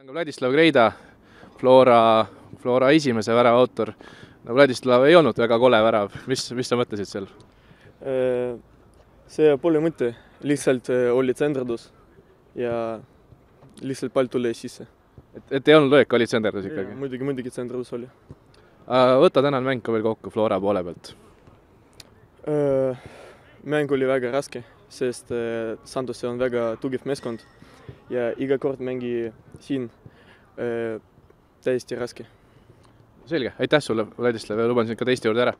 olen ka Vladislav Greida, Flora esimese värava autor. No Vladislav ei olnud väga kole värav, mis sa mõtlesid seal? See pole mõte, lihtsalt oli tsenderdus ja lihtsalt pall tuli sisse. Et ei olnud löök, oli tsenderdus ikkagi? Muidugi tsenderdus oli. Võta tänane mäng ka veel kokku Flora poole pealt. Mäng oli väga raske, sest Santos on väga tugev meeskond ja iga kord mängi siin täiesti raske. Selge, aitäh sulle, Vladislav, ja luban sind ka teiste juurde ära.